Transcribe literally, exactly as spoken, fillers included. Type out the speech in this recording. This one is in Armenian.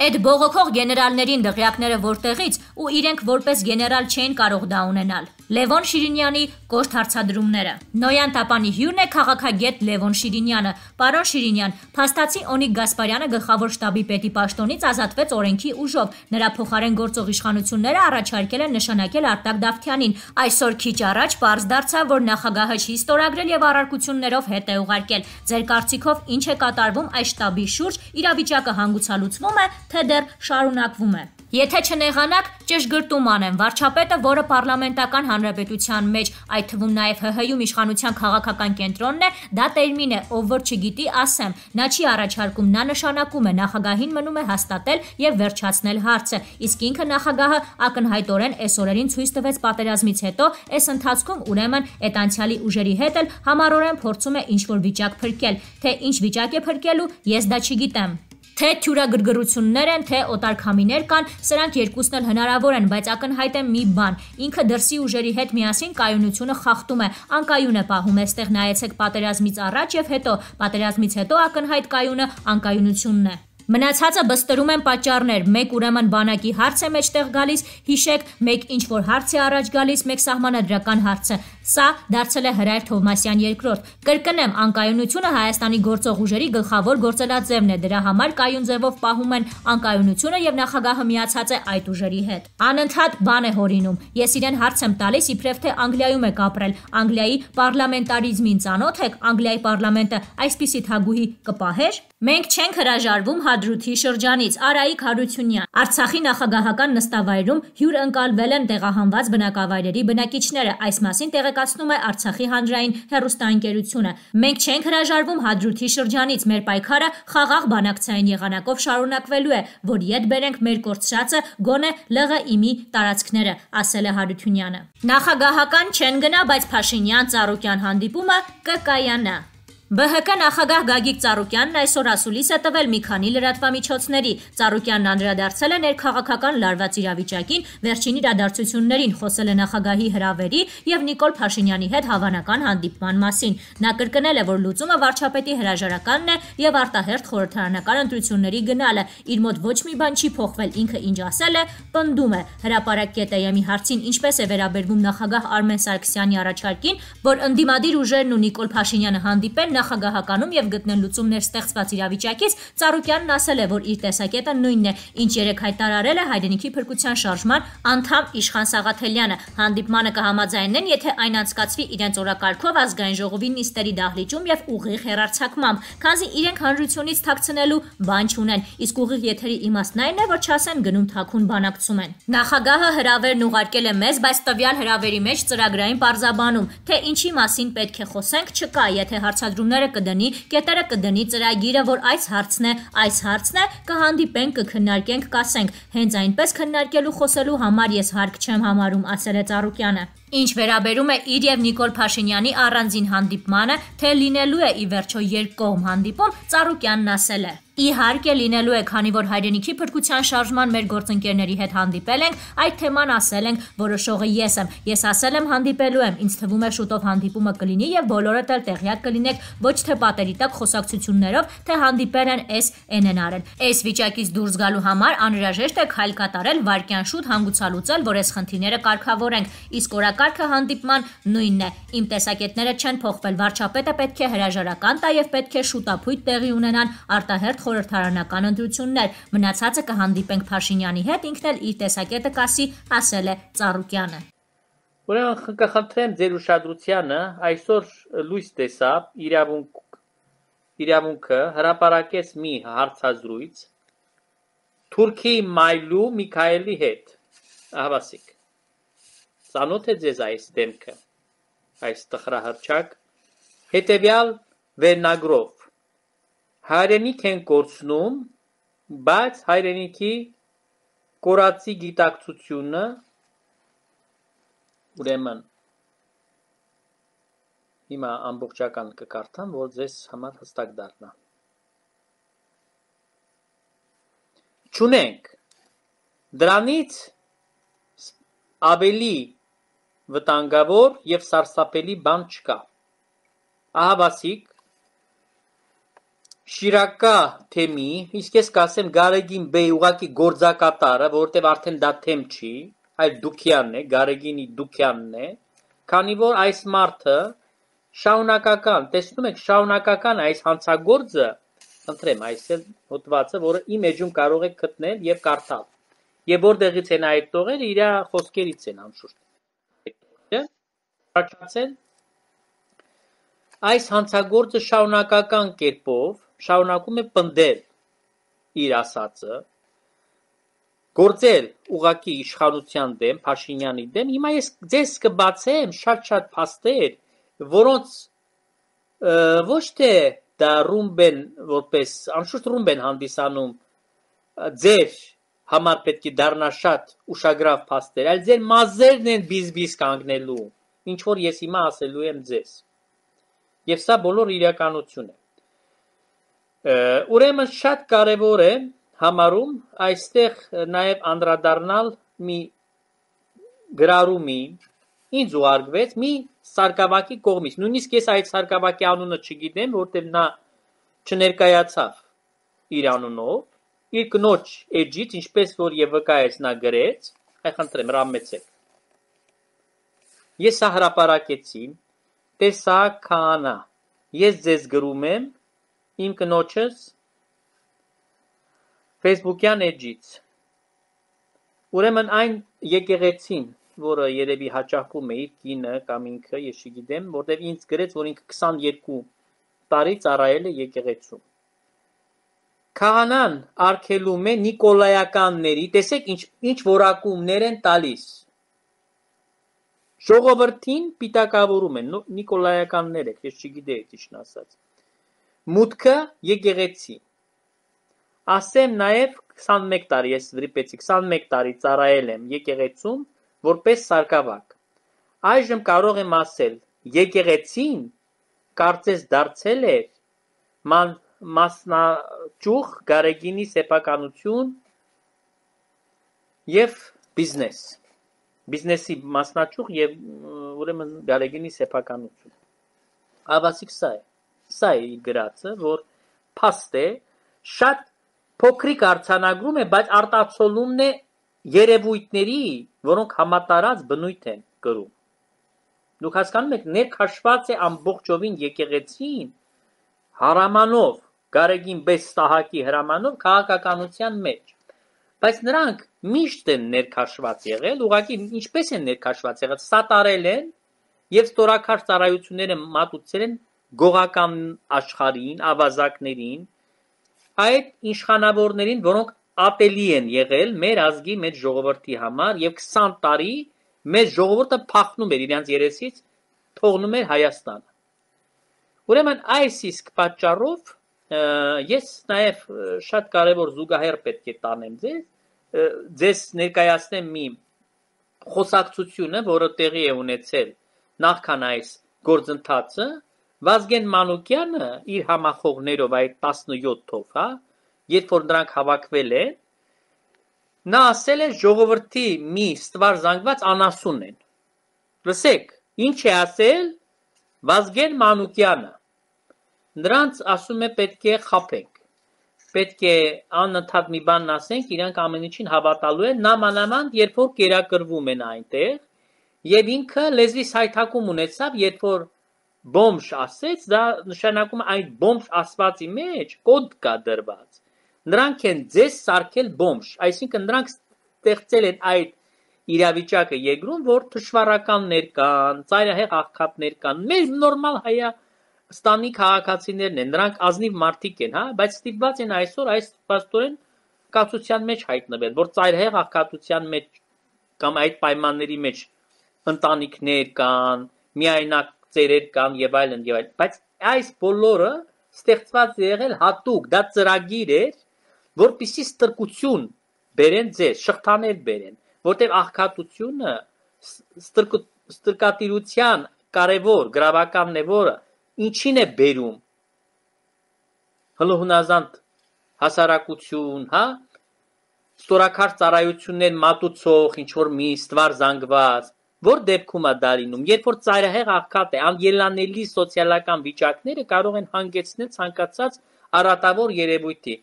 Այդ բողոքող գեներալներին դղյակները որտեղից ու իրենք որպես գեներալ չէին կարող դա ունենալ։ Լևոն Շիրինյանի կոշտ հարցադրումները։ Նոյան Տապանի հյուրն է քաղաքագետ Լևոն Շիրինյանը։ Պարոն Շիրինյան, փաստացի Օնիկ Գասպարյանը գլխավոր շտաբի պետի պաշտոնից ազատվեց օրենքի ուժով։ Նրա փոխարեն գործող իշխանությունները առաջարկել են նշանակել Արտակ Դավթյանին։ Այսօր քիչ առաջ պարզ դարձավ, որ նախագահը չի ստորագրել եւ առարկություններով հետ է ուղարկել։ Ձեր կարծիքով ինչ է կատարվում այս շտաբի շուրջ, իրավիճակը հանգուցալուծվում է, թե դեռ շարունակվում է։ Եթե չնեղանաք, ճշգրտում անեմ, վարչապետը, որը պարլամենտական հանրապետության մեջ, այդ թվում նաև ՀՀ-ում իշխանության քաղաքական կենտրոնն է, դա տերմին է, ով որ չգիտի, ասեմ, նա չի առաջարկում, նա նշանակում է, նախագահին մնում է հաստատել եւ վերջացնել հարցը, իսկ ինքը նախագահը ակնհայտորեն այս օրերին ցույց տվեց պատերազմից հետո, այս ընթացքում ուրեմն այդ անցյալի ուժերի հետ էլ համառորեն փորձում է ինչ-որ վիճակ փրկել, թե ինչ վիճակ է փրկելու, ես դա չգիտեմ։ Թե թյուրագրգռություններ են, թե օտարքամիներ կան, սրանք երկուսն էլ հնարավոր են, բայց ակնհայտ է մի բան, ինքը դրսի ուժերի հետ միասին կայունությունը խախտում է, անկայուն է պահում, այստեղ նայեցեք պատերազմից առաջ եւ հետո, պատերազմից հետո ակնհայտ կայունը անկայունությունն է։ Մնացածը բստրում են պատճառներ, մեկ ուրեմն բանակի հարց է մեջտեղ գալիս, հիշեք, մեկ ինչ որ հարց է առաջ գալիս, մեկ սահմանադրական հարցը։ Սա դարձել է Հրայր Թովմասյան երկրորդ։ Կրկնեմ, անկայունությունը Հայաստանի գործող ուժերի գլխավոր գործելաձևն է, դրա համար կայուն ձևով պահում են անկայունությունը եւ նախագահը միացած է այդ ուժերի հետ։ Անընդհատ բան է հորինում։ Ես իրեն հարց եմ տալիս, իբրև թե Անգլիայում եք ապրել, Անգլիայի պարլամենտարիզմին ծանոթ եք, Անգլիայի պարլամենտը այսպիսի թագուհի կպահեր։ Մենք չենք հրաժարվում Հադրութի շրջանից, Արայիկ Հարությունյան։ Արցախի նախագահական նստավայրում հյուր ընկալվել են տեղահանված բնակավայրերի բնակիչները, այս մասին տեղեկացնում է Արցախի հանրային հեռուստաընկերությունը։ Մենք չենք հրաժարվում Հադրութի շրջանից, մեր պայքարը խաղաղ բանակցային եղանակով շարունակվելու է, որ ետ բերենք մեր կորցրածը գոնե ԼՂԻՄ-ի տարածքները, ասել է Հարությունյանը։ Նախագահական չեն գնա, բայց Փաշինյան Ծառուկյան հանդիպումը կկայանա։ ԲՀԿ նախագահ Գագիկ Ծառուկյանն այսօր ասուլիս է տվել մի քանի լրատվամիջոցների։ Ծառուկյանն անդրադարձել է ներքաղաքական լարված իրավիճակին, վերջին իրադարձություններին, խոսել է նախագահի հրավերի եւ Նիկոլ Փաշինյանի հետ հավանական հանդիպման մասին։ Նա կրկնել է, որ լուծումը վարչապետի հրաժարականն է եւ արտահերթ խորհրդարանական ընտրությունների գնալը։ Իր մոտ ոչ մի բան չի փոխվել, ինքը ինչ ասել է, պնդում է։ Հրապարակ կետայամի հարցին ինչպես է վերաբերվում նախագահ Արմեն Սարգսյանի առաջարկին, որ ընդդիմադիր ուժերն ու Նիկոլ Փաշինյանը հանդիպեն նախագահականում եւ գտնեն լուծումներ ստեղծված իրավիճակից, Ծառուկյանն ասել է, որ իր տեսակետը նույնն է, ինչ երեք հայտարարել է Հայրենիքի փրկության շարժման անդամ Իշխան Սաղաթելյանը։ Հանդիպմանը կհամաձայնեն, եթե այն անցկացվի իրենց օրակարգով ազգային ժողովի նիստերի դահլիճում եւ ուղիղ հեռարձակմամբ, քանզի իրենք հանրությունից թաքցնելու բան չունեն, իսկ ուղիղ եթերի իմաստն այն է, որ չասեն գնում թաքուն բանակցում են։ Նախագահը հրավերն ուղարկել է մեզ, բայց տվյալ հրավերի մեջ ծրագրային պարզաբանում, թե ինչի մասին պետք է խոսենք, չկա, եթե հարցադրումները կդնի, կետերը կդնի ծրագիրը, որ այս հարցն է, այս հարցն է, կհանդիպենք, կքննարկենք, կասենք, հենց այնպես քննարկելու խոսելու համար ես հարկ չեմ համարում, ասել է Ծառուկյանը։ Ինչ վերաբերում է իր եւ Նիկոլ Փաշինյանի առանձին հանդիպմանը, թե լինելու է ի վերջո երկկողմ հանդիպում, Ծառուկյանն ասել է. Իհարկե լինելու է, քանի որ Հայրենիքի փրկության շարժման մեր գործընկերների հետ հանդիպել ենք, այդ թեման ասել ենք, որոշողը ես եմ։ Ես ասել եմ հանդիպելու եմ, ինձ թվում է շուտով հանդիպումը կլինի եւ բոլորդ էլ տեղյակ կլինեք, ոչ թե պատերի տակ խոսակցություններով, թե հանդիպել են էս էն են արել։ Այս վիճակից դուրս գալու համար անհրաժեշտ է քայլ կատարել, վարքյան շուտ հանգուցալուծել, որ այս խնդիրները կարգավորենք, իսկ օրակարգը հանդիպման նույնն է։ Իմ տեսակետները չեն փոխվել, վարչապետը պետք է հրաժարական տա եւ պետք է շուտապույտ տեղի ունենան արտահերթ խորհրդարանական ընտրություններ, մնացածը կհանդիպենք Փաշինյանի հետ, ինքն էլ իր տեսակետը կասի, ասել է Ծառուկյանը։ Ուրեմն կխնդրեմ ձեր ուշադրությանը, այսօր լույս տեսավ իրավունք իրավունքը հրապարակեց մի հարցազրույց Թուրքի Մայլու Միքայելի հետ, ահավասիկ։ Ծանոթ է ձեզ այս դեմքը, այս տխրահռչակ, հետևյալ վերնագրով Հայրենիք են կորցնում, բայց հայրենիքի կորածի գիտակցությունը ուրեմն հիմա ամբողջական կկարդամ, որ ձեզ համար հստակ դառնա։ Չունենք դրանից ավելի վտանգավոր եւ սարսափելի բան չկա։ Ահավասիկ շիրակա թեմի, իսկ ես կասեմ Գարեգին Բեյ ուղակի գործակատարը, որովհետև արդեն դա թեմ չի, այլ Դուքյանն է, Գարեգինի Դուքյանն է, քանի որ այս մարդը շարունակական, տեսնում եք, շարունակական այս հանցագործը, խնդրեմ, այս էլ հոդվածը, որը իմ էջում կարող եք գտնել եւ կարդալ։ Եվ որտեղից են այդ տողերը, իր խոսքերից են անշուշտ։ Առաջացել այս հանցագործը շարունակական կերպով շարունակում է պնդել իր ասածը, գործել ուղակի իշխանության դեմ, Փաշինյանի դեմ։ Հիմա ես ձեզ կբացեմ շատ-շատ փաստեր, որոնց ոչ թե դա ռումբեն որպես անշուշտ ռումբեն հանդիսանում ձեր համար պետք է դառնա շատ ուշագրավ փաստեր, այլ ձեր մազերն են բիզբիզ կանգնելու, ինչ որ ես հիմա ասելու եմ ձեզ։ Եվ սա բոլոր իրականություն է։ Ուրեմն շատ կարևոր է համարում այստեղ նաև անդրադառնալ մի գրառումի, ինձ ուղարկվեց մի սարկավակի կողմից։ Նույնիսկ ես այդ սարկավակի անունը չգիտեմ, որտեղ նա չներկայացավ իր անունով, իր կնոջ էջից, ինչպես որ եւ վկայեց նա գրեց, այ խնդրեմ, ռամեցեք։ Ես սա հրապարակեցի, տեսակ քահանա, ես ձեզ գրում եմ իմ կնոջս Facebook-յան էջից։ Ուրեմն այն եկեղեցին, որը երևի հաճախում է իր կինը կամ ինքը, ես չգիտեմ, որտեղ ինձ գրեց, որ ինքը քսաներկու տարի ծառայել է եկեղեցում։ Քահանան արգելում է նիկոլայականների, տեսեք ինչ ինչ որակումներ են տալիս։ Ժողովրդին պիտակավորում են, նիկոլայականներ եք, ես չգիտեի ճիշտն ասած։ Մուտքը եկեղեցի։ Ասեմ նաև քսանմեկ տարի, ես վրիպեցի, քսանմեկ տարի ծառայել եմ եկեղեցում, որպես սարկավակ։ Այժմ կարող եմ ասել, եկեղեցին կարծես դարձել էր մասնաճյուղ Գարեգինի սեփականություն եւ բիզնես։ Բիզնեսի մասնաճյուղ եւ ուրեմն Գարեգինի սեփականություն։ Ավասիկ սա է։ Սա է իր գրածը, որ փաստ է, շատ փոքրիկ արձանագրում է, բայց արտացոլումն է երևույթների, որոնք համատարած բնույթ են կրում։ Դուք հասկանում եք, ներքաշված է ամբողջովին եկեղեցին հրամանով, Գարեգին Բեյ Սահակի հրամանով քաղաքականության մեջ։ Բայց նրանք միշտ են ներքաշված եղել, ուղղակի ինչպես են ներքաշված եղել, սատարել են եւ ստորակար ծառայությունները մատուցել են գողական աշխարհին, ավազակներին, այդ իշխանավորներին, որոնք ատելի են եղել մեր ազգի, մեր ժողովրդի համար եւ քսան տարի մեր ժողովուրդը փախնում էր իրենց երեսից, թողնում էր Հայաստանը։ Ուրեմն այս իսկ պատճառով ես նաև շատ կարևոր զուգահեռ պետք է տանեմ ձեզ, ձեզ ներկայացնեմ մի խոսակցությունը, որը տեղի է ունեցել նախքան այս գործընթացը, Վազգեն Մանուկյանը իր համախոհներով այդ տասնյոթով, հա, երբ որ նրանք հավաքվել են, նա ասել է ժողովրդի մի ստվար զանգված անասուն են։ Լսեք, ինչ է ասել Վազգեն Մանուկյանը։ Նրանց ասում է պետք է խաբենք, պետք է անընդհատ մի բան ասենք, իրանք ամեն ինչին հավատալու են, նամանավանդ երբ որ կերակրվում են այնտեղ, եւ ինքը լեզվի սայթակում ունեցավ, երբ որ բոմժ ասեց, դա նշանակում է այդ բոմժ ասվածի մեջ կոդ կա դրված։ Նրանք են ձեզ սարքել բոմժ, այսինքն նրանք ստեղծել են այդ իրավիճակը երկրում, որ թշվառականներ կան, ծայրահեղ աղքատներ կան, մեր նորմալ հայա ստանի քաղաքացիներն են, նրանք ազնիվ մարդիկ են, հա, բայց ստիպված են այսօր այս պաստորեն կացության մեջ հայտնվել, որ ծայրահեղ աղքատության մեջ կամ այդ պայմանների մեջ ընտանիքներ կան, միայնակ ծերեր կան եւ այլն եւ այլն, բայց այս բոլորը ստեղծված է եղել հատուկ, դա ծրագիր էր, որպեսզի ստրկություն բերեն ձեզ, շղթաներ բերեն, որտեղ աղքատությունը ստրկատիրության կարևոր գրավականն է, որը ինչին է բերում հլուհնազանդ հասարակություն, հա, ստորակար ծառայություններ մատուցող, ինչ որ մի ստվար զանգված, որ դեպքում է դա լինում, երբ որ ծայրահեղ աղքատ է, անելանելի սոցիալական վիճակները կարող են հանգեցնել ցանկացած արատավոր երևույթի